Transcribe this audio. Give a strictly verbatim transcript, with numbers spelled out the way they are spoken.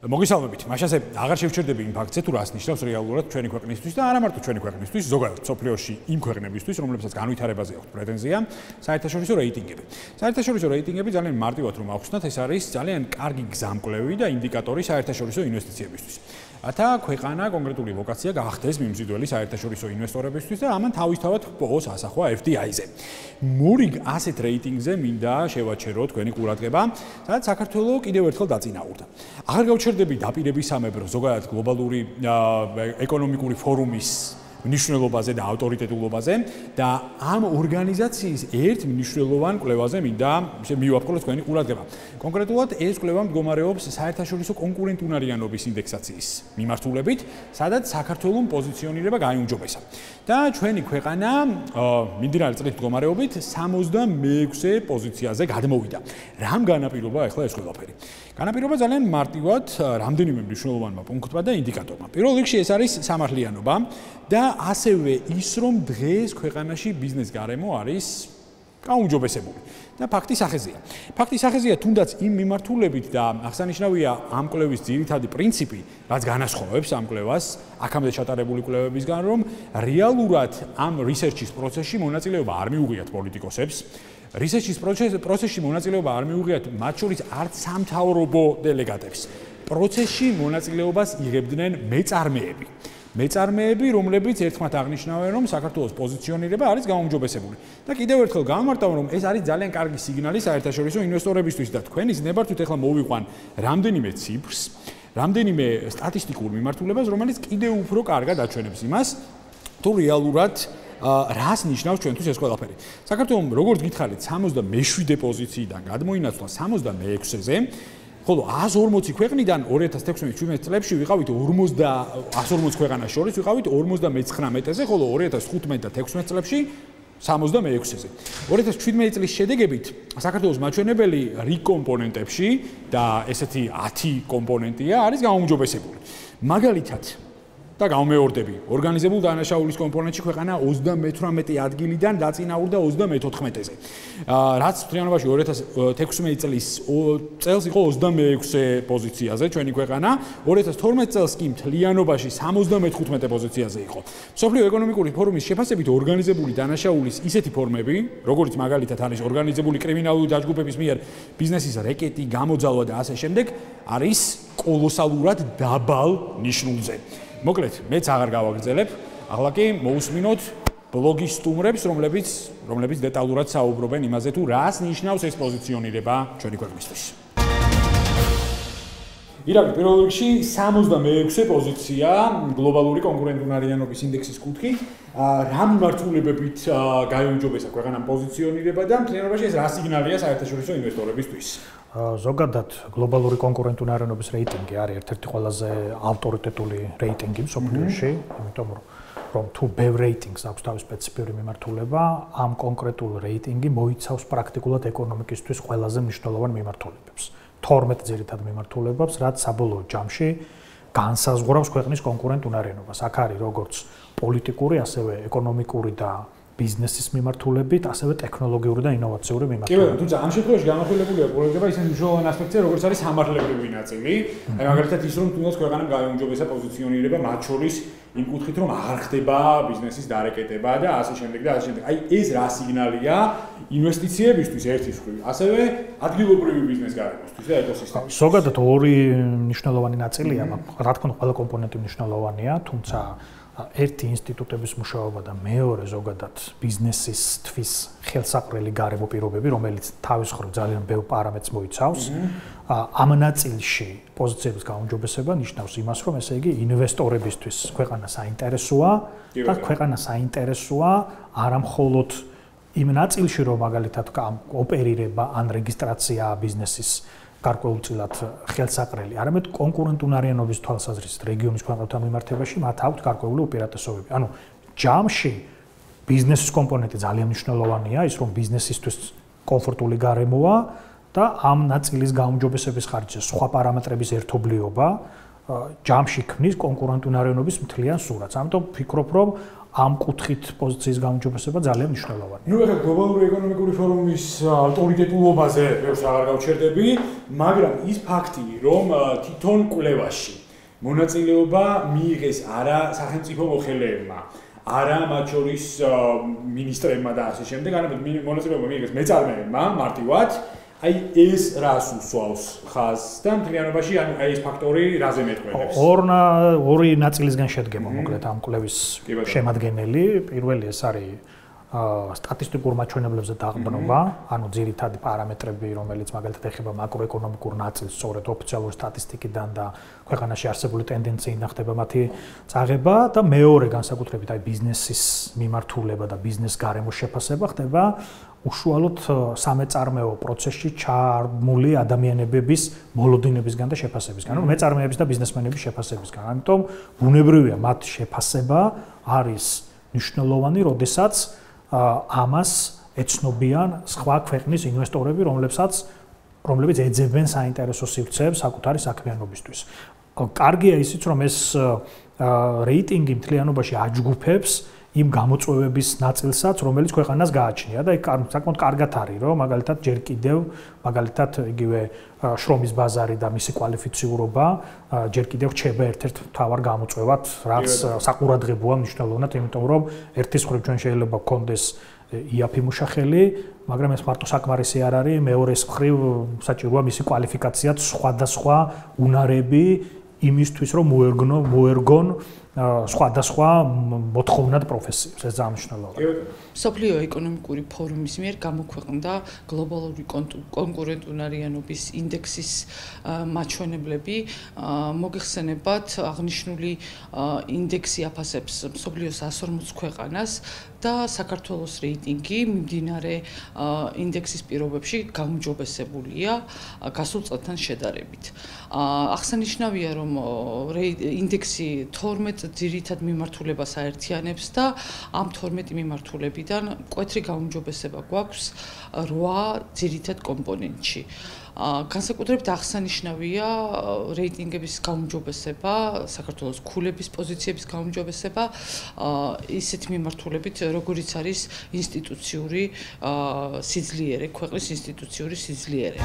მოგესალმებით. მაშასე აღარ შევჩერდები იმ ფაქტზე, თუ რას ნიშნავს რეალურად ჩვენი ქვეყნისთვის და არა მარტო ჩვენი ქვეყნისთვის, ზოგადად სოფლიოში იმ ქვეყნებისთვის, რომლებსაც განვითარებაზე აქვს პრეტენზია, საერთაშორისო რეიტინგები. საერთაშორისო რეიტინგები ძალიან მარტივად რომ ავხსნათ, ეს არის ძალიან კარგი გზამკვლევი და ინდიკატორი საერთაშორისო ინვესტიციებისთვის. ათა ქვეყანა კონკრეტული ლოკაცია გახდეს მიმზიდველი საერთაშორისო ინვესტორებისთვის და ამან თავისთავად პოს ასახვა ეფ დი აი-ზე. მურიგ ასეთ რეიტინგზე მინდა შევაჩერო თქვენი ყურადღება, სადაც საქართველოს კიდევ ერთხელ დაწინაურდა. აღარ გავჩერდები დაპირებისამებრ ზოგადად გლობალური ეკონომიკური ფორუმის მნიშვნელობაზე და ავტორიტეტულობაზე და ამ ორგანიზაციის ერთ მნიშვნელოვან კვლევაზე მინდა მივაპყროთ თქვენი ყურადღება. კონკრეტულად ეს კვლევა მდგომარეობს საერთაშორისო კონკურენტუნარიანობის ინდექსაციის მიმართულებით, სადაც საქართველოს პოზიციონირება გაიუმჯობესა. და ჩვენი ქვეყანა მიმდინარე წლით მდგომარეობით სამოცდამეექვსე პოზიციაზე გადმოვიდა. რამ განაპირობა ახლა ეს ყველაფერი? განაპირობა ძალიან მარტივად რამდენიმე მნიშვნელოვანმა პუნქტმა და ინდიკატორმა. პირველ რიგში ეს არის სამართლიანობა და ასევე ის, რომ დღეს ქვეყანაში ბიზნეს გარემო არის გაუმჯობესებული. და ფაქტის ახეზია. ფაქტის ახეზია თუნდაც იმ მიმართულებით და აღსანიშნავია ამ კვლევის ძირითადი პრინციპი, რაც განასხვავებს ამ კვლევას აქამდე ჩატარებული კვლევებისგან, რომ რეალურად ამ რისერჩის პროცესში მონაწილეობა არ მიუღიათ პოლიტიკოსებს. რისერჩის პროცესში მონაწილეობა არ მიუღიათ მათ შორის არც სამთავრობო დელეგატებს. პროცესში მონაწილეობას იღებდნენ მეწარმეები. მეწარმეები, რომლებიც ერთხმათ აღნიშნავენ, რომ საქართველოს პოზიციონირება არის გაუმჯობესებული. და კიდევ ერთხელ გამარტავ, რომ ეს არის ძალიან კარგი სიგნალი საერთაშორისო ინვესტორებისთვის და თქვენი ზნებართვით ახლა მოვიყვან რამდენიმე ციფრს, რამდენიმე სტატისტიკურ მიმართულებას, რომელიც კიდევ უფრო კარგად აჩვენებს იმას, თუ რეალურად რას ნიშნავს ჩვენთვის ეს ყველაფერი. საქართველოს როგორც გითხარით, სამოცდამეშვიდე პოზიციიდან გადმოინაცვლა სამოცდამეექვსეზე, ხოლო ას ორმოცი ქვეყნიდან ორი ათას თექვსმეტ-შვიდმეტ წლებში ვიყავით ას ორმოცი ქვეყანას შორის ვიყავით ორმოცდამეცხრამეტეზე, ხოლო ორი ათას თხუთმეტ და თექვსმეტ წლებში სამოცდამეექვსეზე. ორი ათას შვიდმეტ წლის შედეგებით საქართველოს მაჩვენებელი რიგ კომპონენტებში და ესეთი ათი კომპონენტია არის გაუმჯობესებული. მაგალითად და გამეორდები. ორგანიზებულ დანაშაულის კომპონენტში ქვეყანა ოცდამეთვრამეტე ადგილიდან დაწინაურდა ოცდამეთოთხმეტეზე. რაც მთლიანობაში ორი ათას თექვსმეტ წლის წელს იყო ოცდამეექვსე პოზიციაზე ჩვენი ქვეყანა, ორი ათას თორმეტ წელს კი მთლიანობაში სამოცდამეთხუთმეტე პოზიციაზე იყო. მსოფლიო ეკონომიკური ფორუმის შეფასებით ორგანიზებული დანაშაულის ისეთი ფორმები, როგორც მაგალითად არის ორგანიზებული კრიმინალური დაჯგუფების მიერ ბიზნესის რეკეტი, გამოძალვა და ასე შემდეგ, არის კოლოსალურად დაბალ ნიშნულზე. მოკლედ, მეც აღარ გავაგრძელებ. ახლა კი მოусმინოთ ბლოგის სტუმრებს, რომლებიც რომლებიც დეტალურად საუბრობენ იმაზე, თუ რას ნიშნავს ეს პოზიციონირება ჩვენი ქვეყნისთვის. ირაკლი, პირველ რიგში სამოცდამეექვსე პოზიცია გლობალური კონკურენტუნარიანობის ინდექსის კუთხით. რა მიმართულებებით გაიუმჯობესა ქვეყანამ პოზიციონირება და მთლიანობაში ეს რა სიგნალია საერთაშორისო ინვესტორებისთვის? ზოგადად გლობალური კონკურენტუნარიანობის რეიტინგი არის ერთ-ერთი ყველაზე ავტორიტეტული რეიტინგი მსოფლიოში, იმიტომ რომ თუ ბევრ რეიტინგს აქვს თავის სპეციფიური მიმართულება, ამ კონკრეტულ რეიტინგი მოიცავს პრაქტიკულად ეკონომიკისთვის ყველაზე მნიშვნელოვან მიმართულებებს. თორმეტ ძირითად მიმართულებებს, რაც საბოლოო ჯამში განსაზღვრავს ქვეყნის კონკურენტუნარიანობას. აქ არის როგორც პოლიტიკური, ასევე ეკონომიკური და ბიზნესის მიმართულებით, ასევე ტექნოლოგიური და ინოვაციური მიმართულებით. კი, თუმცა ამ შემთხვევაში განახილებულია ყურადღება ისეთი მნიშვნელოვანი ასპექტია, როგორც არის სამართლებრივი ნაწილი. აი მაგალითად ის, რომ თუნდაც ქვეყანამ გაიუმჯობესა პოზიციონირება მათ შორის იმ კუთხით, რომ აღარ ხდება ბიზნესის დარეკეტება და ასე შემდეგ და ასე შემდეგ. აი ეს რა სიგნალია ინვესტიციებისთვის ერთის მხრივ, ასევე ადგილობრივი ბიზნეს გარემოსთვის და ეკოსისტემისთვის. ზოგადად ორი მნიშვნელოვანი ნაწილია, რა თქმა უნდა, ყველა კომპონენტი მნიშვნელოვანია, თუმცა ერთი ინსტიტუტების მუშაობა და მეორე ზოგადად ბიზნესისთვის ხელსაყრელი გარემო პირობები, რომელიც თავის მხრივ ძალიან ბევრ პარამეტრს მოიცავს. ამ ნაწილში პოზიციების გაუმჯობესება ნიშნავს იმას, რომ ესე იგი ინვესტორებისთვის ქვეყანა საინტერესოა და ქვეყანა საინტერესოა არა მხოლოდ იმ ნაწილში, რომ მაგალითად ოპერირება ან რეგისტრაცია ბიზნესის გარკვეულწილად ხელსაყრელი, არამედ კონკურენტუნარიანობის თვალსაზრისით რეგიონის ქვეყნებთან მიმართებაში მათ აქვთ გარკვეული უპირატესობები. ანუ ჯამში ბიზნესის კომპონენტი ძალიან მნიშვნელოვანია, ის რომ ბიზნესისთვის კომფორტული გარემოა და ამ ნაწილის გაუმჯობესების ხარჯზე სხვა პარამეტრების ერთობლიობა ჯამში ქმნის კონკურენტუნარიანობის მთლიან სურათს. ამიტომ ვფიქრობ, რომ ამ კუთხით პოზიციის გაუმჯობესება ძალიან მნიშვნელოვანია. ნუ ეხლა გლობალური ეკონომიკური ფორუმის ავტორიტეტულობაზე ბევრს აღარ გავჩერდები, მაგრამ ის ფაქტი, რომ თვითონ კვლევაში მონაწილეობა მიიღეს არა სახელმწიფო მოხელეებმა, არა მათ შორის მინისტრებმა და ასე შემდეგ, არამედ მონაწილეობა მიიღეს მეწარმეებმა მარტივად. აი ეს რას უსვავს ხაზს და მთლიანობაში ანუ აი ეს ფაქტორი რაზე მეტყველებს? ორნა ორი ნაწილისგან შედგება მოკლედ ამ კვლევის შემადგენელი. პირველი ეს არის სტატისტიკურ მაჩვენებლებზე დაყრდნობა, ანუ ძირითადი პარამეტრები, რომელიც მაგალითად ეხება მაკროეკონომიკურ ნაწილს, სწორედ ოფიციალური სტატისტიკიდან და ქვეყანაში არსებული ტენდენციიდან ხდება მათი წაღება და მეორე განსაკუთრებით აი ბიზნესის მიმართულება და ბიზნეს გარემოს შეფასება ხდება უშუალოდ სამეწარმეო პროცესში ჩართული ადამიანების მოლოდინებისგან და შეფასებისგან, ანუ მეწარმეების და ბიზნესმენების შეფასებისგან. ამიტომ ბუნებრივია მათ შეფასება არის მნიშვნელოვანი, როდესაც ამას ეცნობიან სხვა ქვეყნის ინვესტორები, რომლებსაც რომლებიც ეძებენ საინტერესო სივრცეებს საკუთარი საქმიანობისთვის. კარგია ისიც, რომ ეს რეიტინგი მთლიანობაში აჯგუფებს იმ გამოწვევების ნაწილსაც, რომელიც ქვეყანას გააჩნია და იქ საკმაოდ კარგად არის, რომ მაგალითად ჯერ კიდევ, მაგალითად იგივე შრომის ბაზარი და მისი კვალიფიციურობა ჯერ კიდევ რჩება ერთ-ერთ მთავარ გამოწვევად, რაც საყურადღებოა მნიშვნელოვნად, იმიტომ რომ ერთის მხრივ ჩვენ შეიძლება გქონდეს იაფი მუშახელი, მაგრამ ეს მარტო საკმარისი არ არის, მეორეს მხრივ საჭიროა მისი კვალიფიკაციაც სხვადასხვა უნარები იმისთვის, რომ მოერგნო, მოერგონ სხვადასხვა მოთხოვნად პროფესიებს, ეს ძალიან მნიშვნელოვანია. მსოფლიო ეკონომიკური ფორუმის მიერ გამოქვეყნდა გლობალური კონკურენტუნარიანობის ინდექსის მაჩვენებლები. მოგეხსენებათ, აღნიშნული ინდექსი აფასებს მსოფლიოს εκατს ორმოც ქვეყანას და საქართველოს რეიტინგი მიმდინარე ინდექსის პირობებში გაუმჯობესებულია გასულ წელთან შედარებით. აღსანიშნავია, რომ ინდექსი თორმეტ ძირითად მიმართულებას აერთიანებს და ამ თორმეტი მიმართულებიდან მკვეთრი გაუმჯობესება გვაქვს რვა ძირითად კომპონენტში. განსაკუთრებით აღსანიშნავია რეიტინგების გაუმჯობესება, საქართველოს ქულების პოზიციების გაუმჯობესება ისეთ მიმართულებით, როგორიც არის ინსტიტუციური სიძლიერე, ქვეყნის ინსტიტუციური სიძლიერე.